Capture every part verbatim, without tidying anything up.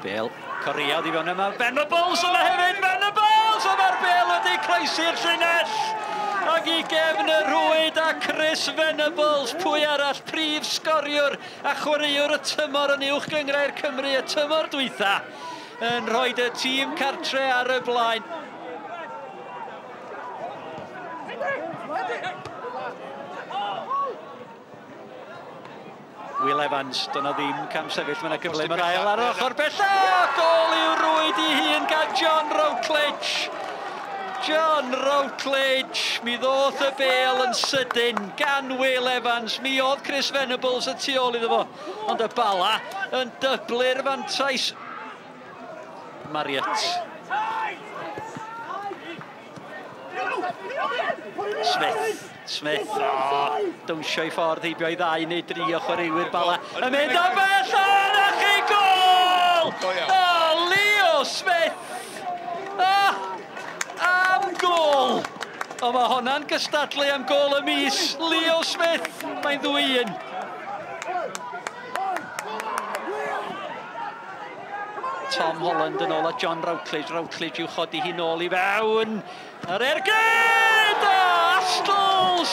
Bale, Correa oddi fewn yma, Venables yma hefyd, Venables! A mae'r bêl wedi croesi'r llinell! Ac i gefn y rwyd a Chris Venables, pwy arall, prif sgoriwr a chwaraewr y tymor yn Uwch Gynghrair Cymru y tymor dwytha, yn rhoi y tîm cartre ar y blaen. Will Evans, dyna ddim cam sefyll, mae yna gyfle, mae'r ail ar ochr bella! Gôl i'w rwyd i hun gan John Routledge. John Routledge, mi ddoth y bêl yn sydyn gan Will Evans, mi oedd Chris Venables y tu ôl iddo fo, ond y Bala yn dyblu'r fantais. Marriott. Smith, Smith, oh, dawnsio i ffordd heibio i ddau neu dri o chwaraewyr Bala. Yn mynd am bell, a chi gôl! Oh, Leo Smith! Ah, am gôl! O, mae honna'n gystadlu am gôl y mis. Leo Smith, mae'n ddwy un. Tom Holland yn ôl a John Routledge. Routledge i'w chodi hi nôl i fewn. Yr ergyd! Astles!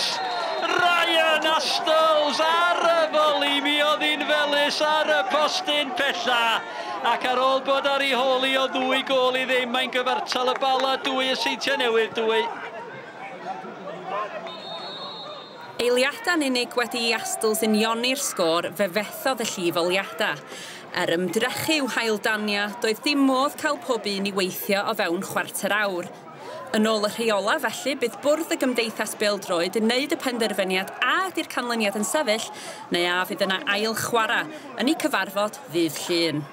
Ryan Astles ar y foli. Mi oedd hi'n felys ar y postyn pella. Ac ar ôl bod ar ei hôl i o ddwy gôl i ddim, mae'n gyfartal y Bala dwy, y Seintiau Newydd dwy. Eiliadau'n unig wedi i Astles unioni'r sgôr, fe fethodd y llif oliadau. Er ymdrechu i'w haildania, doedd dim modd cael pob un i weithio o fewn chwarter awr. Yn ôl y rheola, felly, bydd bwrdd y Gymdeithas Bêl-droed yn wneud y penderfyniad a ydy'r canlyniad yn sefyll, neu a fydd yna ail chwarae yn eu cyfarfod ddydd Llun.